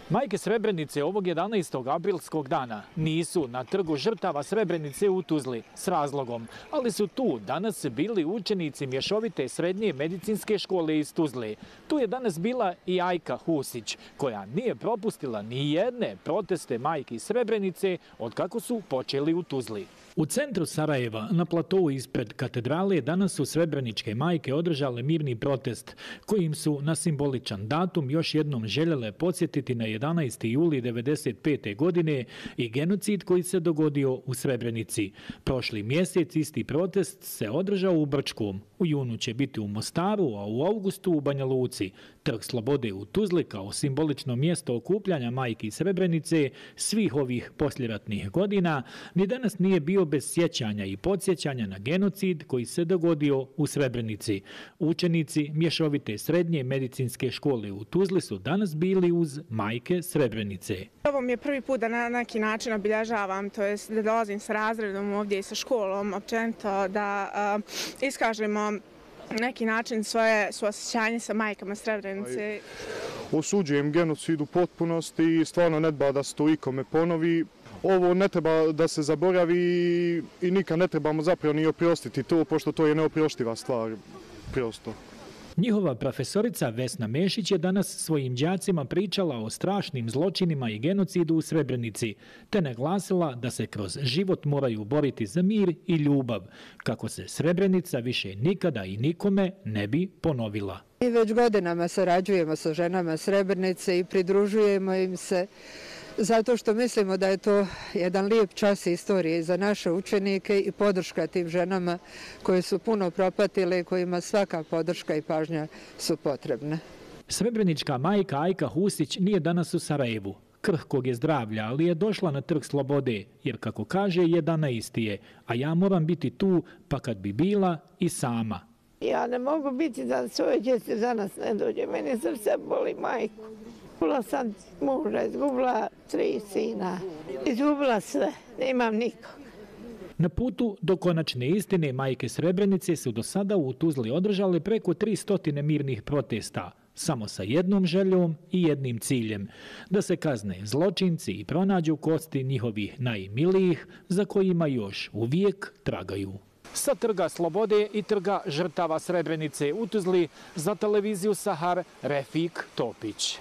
Majke Srebrenice ovog 11. aprilskog dana nisu na trgu žrtava Srebrenice u Tuzli s razlogom, ali su tu danas bili učenici mješovite srednje medicinske škole iz Tuzle. Tu je danas bila i Ajka Husić, koja nije propustila ni jedne proteste majki Srebrenice od kako su počeli u Tuzli. U centru Sarajeva, na platovu ispred katedrale, danas su srebreničke majke održale mirni protest, kojim su na simboličan datum još jednom željele podsjetiti na 11. juli 1995. godine i genocid koji se dogodio u Srebrenici. Prošli mjesec isti protest se održao u Brčkom. U junu će biti u Mostaru, a u augustu u Banja Luci. Trg Slobode u Tuzli kao simbolično mjesto okupljanja majki Srebrenice svih ovih posljeratnih godina ni danas nije bio bez sjećanja i podsjećanja na genocid koji se dogodio u Srebrenici. Učenici mješovite srednje medicinske škole u Tuzli su danas bili uz majke Srebrenice. Ovo mi je prvi put da na neki način obilježavam, to jest da dolazim sa razredom ovdje i sa školom, općenito da iskažemo neki način svoje osjećanje sa majkama Srebrenice. Osuđujem genocid u potpunosti i stvarno ne treba da se to ikome ponovi. Ovo ne treba da se zaboravi i nikad ne trebamo zapravo ni oprostiti to, pošto to je neoproštiva stvar, prosto. Njihova profesorica Vesna Mešić je danas svojim đacima pričala o strašnim zločinima i genocidu u Srebrenici, te naglasila da se kroz život moraju boriti za mir i ljubav, kako se Srebrenica više nikada i nikome ne bi ponovila. Mi već godinama sarađujemo sa ženama Srebrenice i pridružujemo im se zato što mislimo da je to jedan lijep čas istorije za naše učenike i podrška tim ženama koje su puno propatile i kojima svaka podrška i pažnja su potrebne. Srebrenička majka Ajka Husić nije danas u Sarajevu. Krhkog je zdravlja, ali je došla na trg Slobode, jer kako kaže 11. je, a ja moram biti tu pa kad bi bila i sama. Ja ne mogu biti da svoje djece za nas ne dođe, meni srce boli majku. Izgubila sam muža, izgubila 3 sina, izgubila sve, nemam nikog. Na putu do konačne istine majke Srebrenice su do sada u Tuzli održale preko 300 mirnih protesta, samo sa jednom željom i jednim ciljem, da se kazne zločinci i pronađu kosti njihovih najmilijih za kojima još uvijek tragaju. Sa trga Slobode i trga žrtava Srebrenice u Tuzli za televiziju Sahar Refik Topić.